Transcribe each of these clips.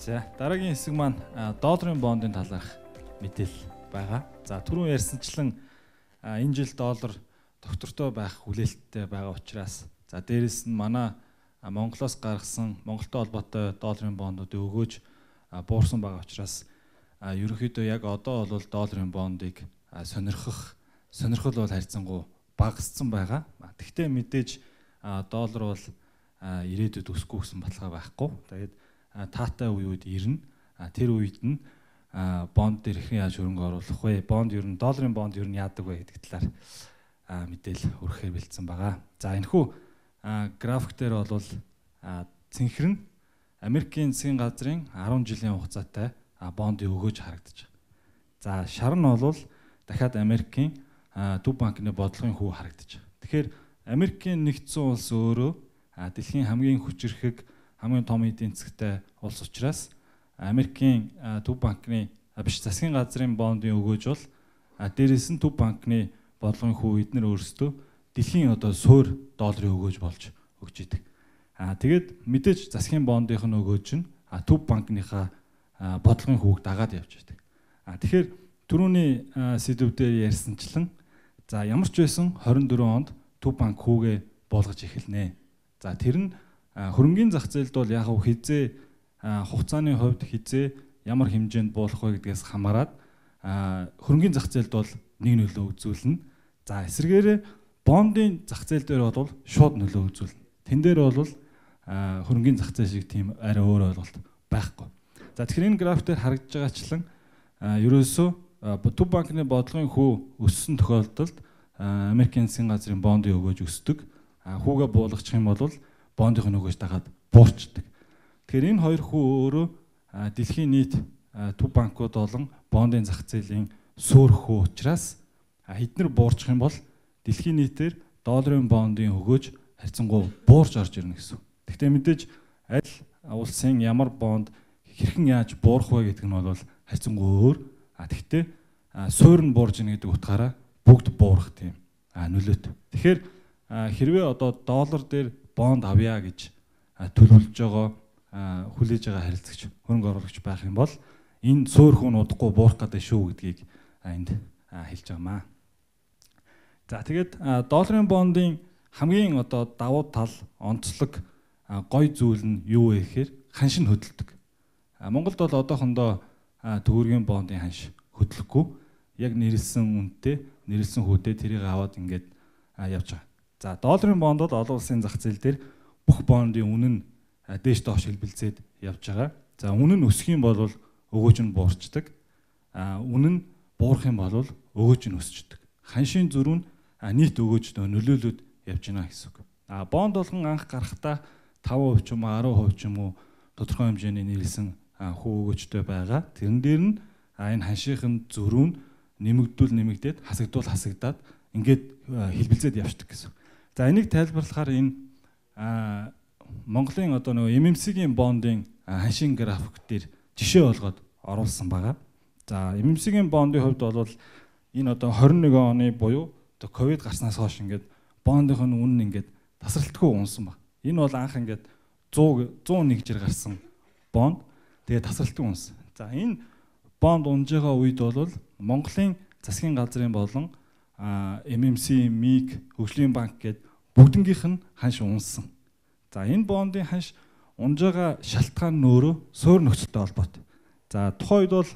За дараагийн хэсэг маань долларын бондын талаарх мэдээлэл байгаа. За түрүүн ярьсанчлан энэ жил доллар доктортой байх хүлээлттэй байгаа учраас за дээрэс нь манай Монголоос гаргасан Монголтой холбоотой долларын бондуудыг өгөөж буурсан байгаа учраас ерөнхийдөө яг одоо бол долларын бондыг сонирхол бол харьцангуй багассан байгаа. Тэгвэл мэдээж доллар бол ирээдүйд өсөхгүй гэсэн баталгаа байхгүй. Тэгээд таатай үед ирнэ. Тэр үед нь бонд дээр их яаж хөрөнгө оруулах вэ? Бонд ер нь долларын бонд ер нь яадаг вэ гэдэг талаар мэдээлэл өргөхөөр бэлдсэн байгаа. За энэхүү график дээр бол цэнхэр нь Америкийн засгийн газрын 10 жилийн хугацаатай бонд өгөөж харагдаж байна. За шар нь бол дахиад Америкийн төв банкны бодлогын хүү харагдаж байна. Тэгэхээр Америкийн нэгдсэн улс өөрөө дэлхийн хамгийн хүчирхэг хамгийн том эдийн засгтай улс учраас Америкийн төв банкны засгийн газрын бондын өгөөж бол дээрээс нь төв банкны бодлогын хүү эднэр өөрсдөө дэлхийн суур долларын өгөөж болж өгч идэг. Тэгээд мэдээж засгийн бондынх нь өгөөж нь төв банкныхаа бодлогын хүүг дагаад явж идэг. Тэгэхээр түрүүний сэдв дээр ярьсанчлан за ямар ч байсан 24 онд төв банк хүүгээ болгож эхэлнэ. За тэр нь хөрөнгөний зах зээлд бол яг хизээ хугацааны хувьд хизээ ямар хэмжээнд буулах вэ гэдгээс хамаарат хөрөнгөний зах зээлд бол нэг нөлөө үзүүлнэ. За эсвэргээрээ бондын зах зээл дээр бол шууд нөлөө үзүүлнэ. Тэн дээр бол хөрөнгөний зах зээл шиг тийм арай өөр ойлголт байхгүй. За тэгэхээр энэ график дээр харагдж байгаачлан ерөөсөө төв банкны бодлогын хүү өссөн тохиолдолд Америкийн засгийн газрын бондын өгөөж өсдөг. Хүүгээ буулгачих юм бол бондын өгөөж дагаад буурчдаг. Тэгэхээр энэ хоёр хүү өөрөө дэлхийн нийт төв банкуд болон бондын зах зээлийн суур хүү учраас хэднэр буурчих юм бол дэлхийн нийтээр долларын бондын өгөөж харьцангуй буурч орж ирнэ гэсэн. Гэхдээ мэдээж аль улсын ямар бонд хэрхэн яаж буурах вэ гэдэг нь бол харьцангуй өөр. Тэгвэл суур нь буурж ийн гэдэг утгаараа бүгд буурах тийм нөлөөтэй. Тэгэхээр хэрвээ доллар дээр бонд авъя гэж төлөвлөж байгаа хүлээж байгаа харилцагч хөрөнгө оруулагч байх юм бол энэ суур хүн удахгүй буурах гэдэг шүү гэдгийг энд хэлж байгаамаа. За тэгээд долларын бондын хамгийн давуу тал онцлог гой зүйл нь юу вэ гэхээр ханш нь хөдөлдөг. Монголд бол одоохондоо төгрөгийн бондын ханш хөдлөхгүй. Яг нэрлсэн үнэтэй, нэрлсэн хүйтэй тэрийг аваад ингээд явж байгаа. За долларын бонд бол олон улсын зах зээл дээр бүх бондын үнэ нь дээш доош хэлбэлзээд явж байгаа. За үнэ нь өсөх юм бол өгөөж нь буурчдаг. Үнэ нь буурах юм бол өгөөж нь өсчдөг. Ханшийн зөрүү нь нийт өгөөждөө нөлөөлөд явж байна гэсэн үг. Бонд болгон анх гарахдаа 5% ч юм уу 10% ч юм уу тодорхой хэмжээний нэрлсэн хүү өгөөжтэй байгаа. Тэрэн дээр нь энэ ханшийн зөрүү нь нэмэгдээд хасагдаад ингээд хэлбэлзээд явждаг гэсэн. За энийг тайлбарлахаар энэ Монголын MMC-ийн бондын ханшийн график дээр жишээ болгоод оруулсан байгаа. За MMC-ийн бондын хувьд бол энэ 21 оны буюу ковид гарснаас хойш ингээд бондынх нь үнэ ингээд тасралтгүй унсан баг. Энэ бол анх ингээд 101 жир гарсан бонд. Тэгээд тасралтгүй унсан. За энэ бонд унж байгаа үед бол Монголын засгийн газрын болон MMC, МИГ, хөгжлийн банк гээд бүгднгийнх нь ханш унсан. За энэ бондын ханш унж байгаа шалтгаан нь өөрөө суур нөхцөлтэй холбоотой. За тухайн үед бол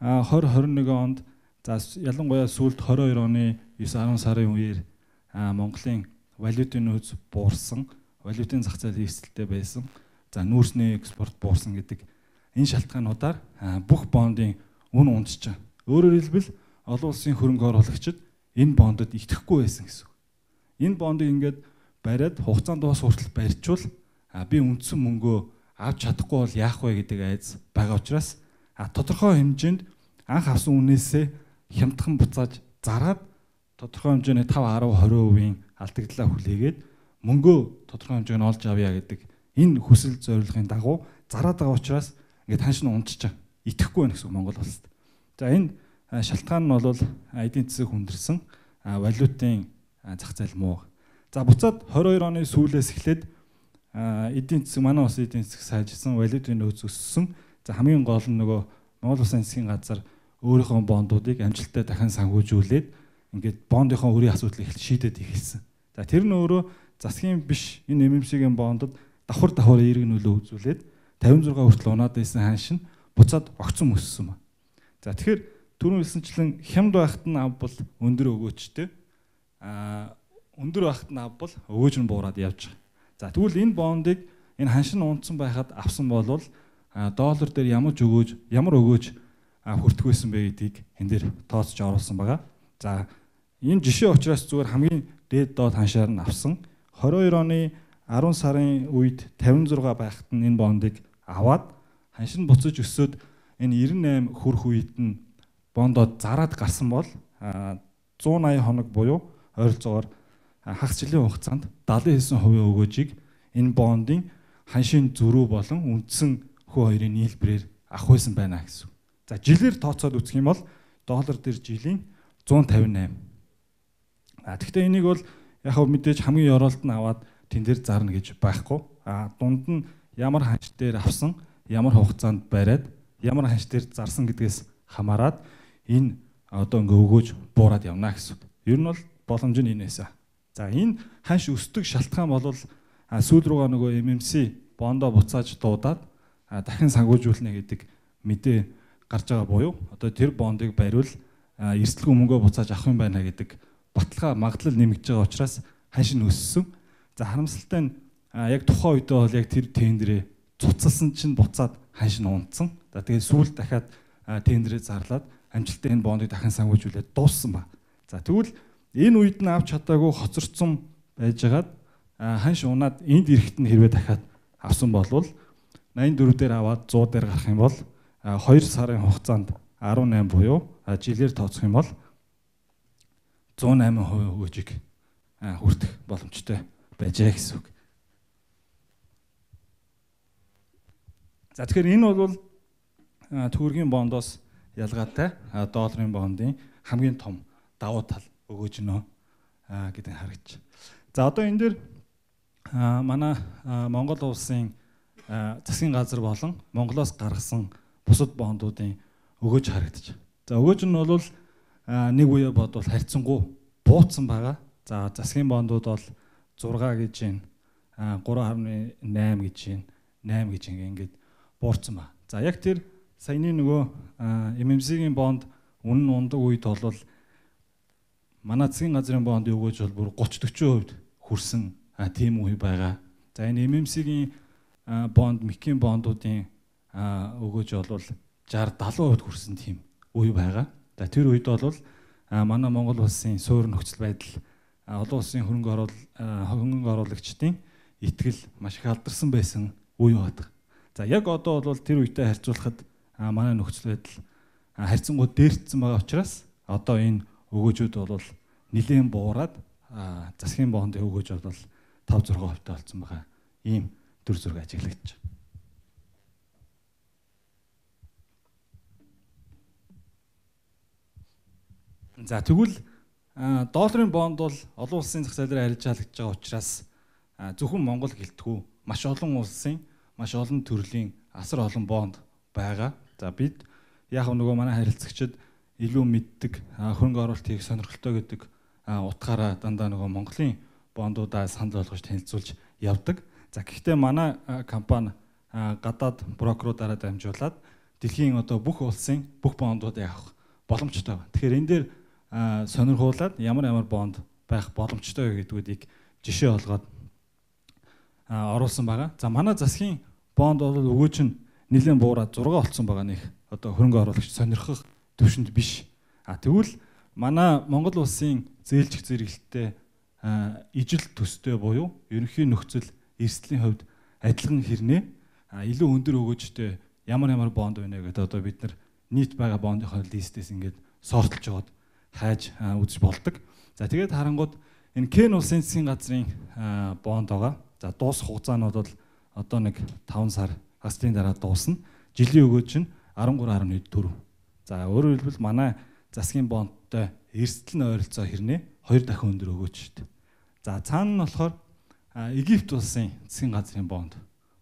2021 онд за ялангуяа сүүлд 22 оны 9-10 сарын үеэр Монголын валютын нөөц буурсан, валютын зах зээл эрсдэлтэй байсан. За нүүрсний экспорт буурсан гэдэг энэ шалтгаануудаар бүх бондын үн унжиж байгаа. Өөрөөр хэлбэл олон улсын хөрөнгө оруулагчид энэ бондод итгэхгүй байсан гэсэн. Энэ бондыг ингээд бариад хугацаанд дуус хүртэл барьчвал би үндсэн мөнгөө авч чадахгүй бол яах вэ гэдэг айц байгаа учраас тодорхой хэмжээнд анх авсан үнээсээ хямдхан буцааж зараад тодорхой хэмжээний 5-10-20% алдагдлаа хүлээгээд мөнгөө тодорхой хэмжээнд олж авъя гэдэг энэ хүсэл зорилгын дагуу зараад байгаа учраас ингээд ханш нь унжиж байгаа. Итгэхгүй байна гэсэн Монгол улсад. За энэ шалтгаан нь бол эдийн засаг хүндэрсэн валютын зах зээл муу. За буцаад 22 оны сүүлээс эхлээд эдийн засаг манай улсын эдийн засаг сайжирсан, валютын нөөц өссөн. За хамгийн гол нь нөгөө Монгол Улсын засгийн газар өөрийнхөө бондуудыг амжилттай дахин санхүүжүүлээд ингээд бондынхоо үрийн асуудлыг шийдээд эхэлсэн. За тэр нь өөрөө засгийн биш энэ MMC-ийн бондод давхар эерэг нөлөө үзүүлээд 56 хүртэл унаад байсан ханш нь буцаад огцон өссөн ба. За тэгэхээр түрүүн хэлсэнчлэн хямд байхад нь ав бол өндөр өгөөчтэй. Өндөр байхад нь ав бол өгөөж нь буураад явж байгаа. За тэгвэл энэ бондыг энэ ханш нь унтсан байхад авсан болвол доллар дээр ямар өгөөж хүртэх байсан бэ гэдгийг энэ дээр тооцож оруулсан байгаа. За энэ жишээ учраас зүгээр хамгийн дээд доод ханшаар нь авсан 22 оны 10 сарын үед 56 байхад нь энэ бондыг аваад ханш нь буцаж өсөөд энэ 98 хүрэх үед нь бондод зараад гарсан бол 180 хоног буюу ойролцоогоор хагас жилийн хугацаанд 79% өгөөжийг энэ бондын ханшийн зөрүү болон үндсэн хөө хоёрын нийлбэрээр авах байсан байна гэсэн. За жилээр тооцоод үзэх юм бол доллар дээр жилийн 158. Гэхдээ энийг бол яг хөө мэдээж хамгийн ёроолт нь аваад тэн дээр зарна гэж байхгүй. Дунд нь ямар ханш дээр авсан, ямар хугацаанд бариад, ямар ханш дээр зарсан гэдгээс хамаарат энэ одоо ингээ өгөөж буураад явна гэсэн. Ер нь бол боломж нь энэ байсан. За энэ ханш өсдөг шалтгаан бол сүүл рүүгээ нөгөө MMC бондоо буцааж дуудаад дахин санхүүжүүлнэ гэдэг мэдээ гарч байгаа буюу одоо тэр бондыг бариул эрсдэлгүй мөнгөө буцааж авах юм байна гэдэг баталгаа магадлал нэмэгдэж байгаа учраас ханш нь өссөн. За харамсалтай нь яг тухайн үедээ бол яг тэр тендерээ цуцалсан чинь буцаад ханш нь унтсан. За тэгээд сүүлд дахиад тендерээ зарлаад амжилттай энэ бондыг дахин санхүүжүүлээд дууссан ба. За тэгвэл энэ үед нь авч чадаагүй хоцорцсон байжгаад ханш унаад энд ирэхэд нь хэрвээ дахиад авсан болвол 84 дээр аваад 100 дээр гарах юм бол 2 сарын хугацаанд 18 буюу жилээр тооцох юм бол 108% өгөөжийг хүртэх боломжтой байжээ гэсэн үг. За тэгэхээр энэ бол төгрөгийн бондоос ялгаатай долларын бондын хамгийн том давуу тал өгөөж нөө гэдэг харагдаж. За одоо энэ дээр манай Монгол улсын засгийн газар болон Монголоос гаргасан бусад бондуудын өгөөж харагдаж. За өгөөж нь бол нэг үе бодвол харьцангуй буутсан байгаа. За засгийн бондууд бол 6 гэж байна, 3.8 гэж байна, 8 гэж ингээд буурсан ба. За яг тэр саяны нөгөө MMC-ийн бонд үнэн ундаг үед бол манай засгийн газрын бондын өгөөж бол бүр 30-40% хүрсэн тийм үе байгаа. За энэ MMC-ийн бонд, МИК-ийн бондуудын өгөөж бол 60-70% хүрсэн тийм үе байгаа. За тэр үед бол манай Монгол улсын суурь нөхцөл байдал олон улсын хөрөнгө оруулагчдын итгэл маш их алдарсан байсан үе байдаг. За яг одоо бол тэр үетэй харьцуулахад манай нөхцөл байдал харьцангуй дээрцсэн байгаа учраас одоо энэ өгөөжүүд бол нэлээд буураад засгийн бондын өгөөж бол 5-6% таа болсон байгаа. Ийм төр зураг ажиглагдаж байна. За тэгвэл долларын бонд бол олон улсын зах зээлээр арилжаалагдж байгаа учраас зөвхөн Монгол гэлтгүү маш олон улсын маш олон төрлийн асар олон бонд байгаа. За бид яг нөгөө манай харилцагчид илүү мэддэг хөрөнгө оруулалт хийх сонирхолтой гэдэг утгаараа дандаа нөгөө Монголын бондуудаа санал болгож танилцуулж явдаг. За гэхдээ манай компани гадаад брокеруудаараа дамжуулаад дэлхийн одоо бүх улсын бүх бондуудыг авах боломжтой байна. Тэгэхээр энэ дээр сонирхуулаад ямар бонд байх боломжтой гэдгүүдийг жишээ олгоод оруулсан байгаа. За манай засгийн бонд бол өгөөж нь нэлээд буураад 6 болсон байгаа нэг одоо хөрөнгө оруулагч сонирхох төвшөнд биш. Тэгвэл манай Монгол улсын зээлжих зэрэгэлттэй ижил төстэй буюу ерөнхий нөхцөл эрсдлийн хувьд адилхан хэрнээ илүү өндөр өгөөжтэй ямар бонд байна гэдэг одоо бид нар нийт байгаа бондынхоо листээс ингээд сортлж аваад хайж үзэж болдог. За тэгээд харангууд энэ Кен улсын засгийн газрын бонд байгаа. За дуусах хугацаа нь бол одоо нэг 5 сар хагасны дараа дуусна. Жилийн өгөөж нь 13.4. За өөрөөр хэлбэл манай засгийн бондтой эрсдэл нь ойролцоо хэрнээ 2 дахин өндөр өгөөж шүү дээ. За цаана нь болохоор Египт улсын засгийн газрын бонд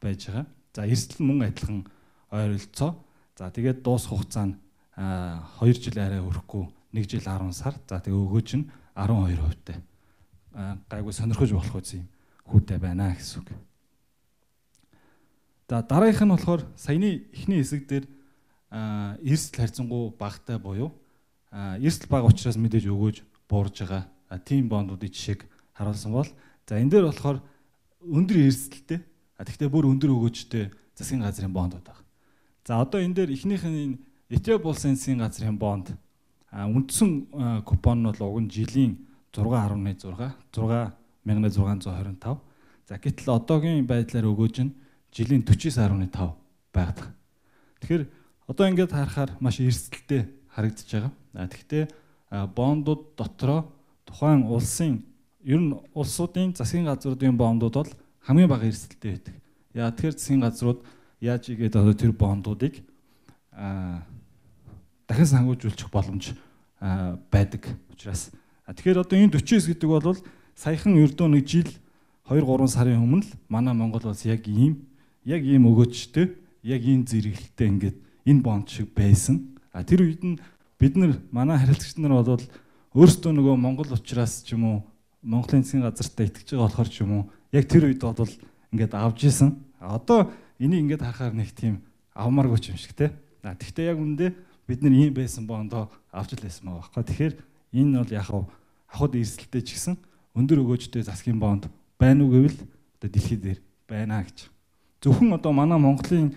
байж байгаа. За эрсдэл мөн адилхан ойролцоо. За тэгээд дуус хугацаа нь 2 жил арай хүрэхгүй 1 жил 10 сар. За тэгээ өгөөж нь 12%-тай. Гайгүй сонирхож болох үс юм хүүтэй байна гэсэн үг. За дараагийнх нь болохоор саяны эхний хэсэг дээр эрсдэл харьцангуй багатай буюу эрсдэл бага учраас мэдээж өгөөж буурж байгаа тийм бондуудын жишээг харуулсан бол за энэ дээр болохоор өндөр эрсдэлтэй тэгтээ бүр өндөр өгөөжтэй засгийн газрын бондууд байна. За одоо энэ дээр эхнийх нь Ethiopia улсын засгийн газрын бонд үндсэн купон нь бол уг нь жилийн 6.6 За гэтэл одоогийн байдлаар өгөөж нь жилийн 49.5 байдаг. Тэгэхээр одоо ингээд харахаар маш эрсдэлтэй харагдаж байгаа. Тэгвэл бондууд дотроо тухайн улсын ер нь улсуудын засгийн газруудын бондууд бол хамгийн бага эрсдэлтэй байдаг. Яа тэгэхээр засгийн газрууд яаж игээд одоо тэр бондуудыг дахин сангуулжуулчих боломж байдаг учраас. Тэгэхээр одоо энэ 49 гэдэг бол саяхан ердөө нэг жил 2-3 сарын өмнө л манай Монгол улс яг ийм өгөөжтэй, яг ийм зэрэглэлтэй ингээд энэ бонд шиг байсан. Тэр үед нь бид нар манай харилцагч нар бол өөрсдөө нөгөө Монгол учраас ч юм уу Монголын засгийн газартаа итгэж байгаа болохоор ч юм уу яг тэр үед бол ингээд авж исэн. Одоо энийг ингээд харахаар нэг тийм авмааргүй юм шиг те. Тэгвэл яг үндэ бид нар ийм байсан бондоо авч л байсан байгаа байхгүй. Тэгэхээр энэ бол яг хахад эрсдэлтэй ч гэсэн өндөр өгөөжтэй засгийн бонд байна уу гэвэл одоо дэлхийд дээр байна гэж. Зөвхөн одоо манай Монголын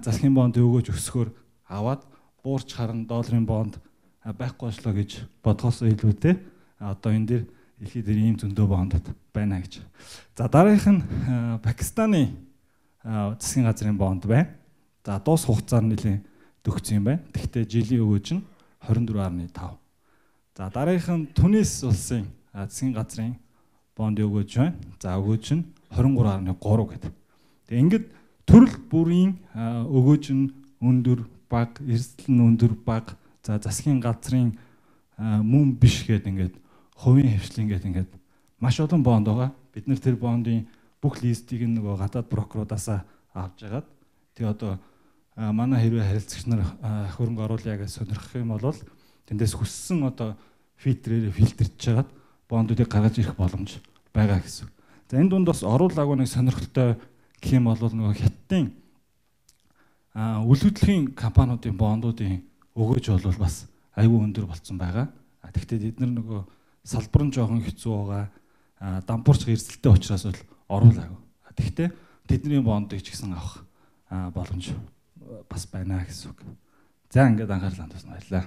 засгийн бонд өгөөж өсгөхөөр аваад буурч харан долларын бонд байхгүй болчлоо гэж бодгоосоо илүү те. Одоо энэ дээр дэлхийд дээр ийм зөндөө бондод байна гэж. За дараагийнх нь Пакистаны засгийн газрын бонд байна. За дуус хугацаар нэлийн төгссөн юм байна. Тэгвэл жилийн өгөөж нь 24.5. За дараагийнх нь Тунис улсын засгийн газрын бонд өгөөж байна. За өгөөж нь 23.3 гэдэг. Тэгээ ингээд төрөл бүрийн өгөөж нь өндөр баг, эрсдэл нь өндөр баг. За засгийн газрын мөн биш гэдэг ингээд хувийн хвшлийн гэдэг ингээд маш олон бонд байгаа. Бид нар тэр бондын бүх листийг нөгөө гадаад прокуруудаасаа авч жагаад тэгээ одоо манай хэрвээ харилцагч нар хөрөнгө оруулъя гэж сонирхох юм бол тэндээс хүссэн одоо фильтрээр фильтрж жагаад бондуудыг гаргаж ирэх боломж байгаа гэсэн. За энэ дунд бас оруулаагүй нэг сонирхолтой гэх юм бол нөгөө Хятадын үйл хөдлөлийн компаниудын бондуудын өгөөж бол бас аюул өндөр болцсон байгаа. Тэгэхдээ тэд нар нөгөө салбар нь жоохон хэцүү байгаа. Дампуурч эрсдэлтэй учраас бол оруулаагүй. Тэгэхдээ тэдний бондыг ч гэсэн авах боломж бас байна гэсэн үг. За ингээд анхаарлаа хандуулсан баярлалаа.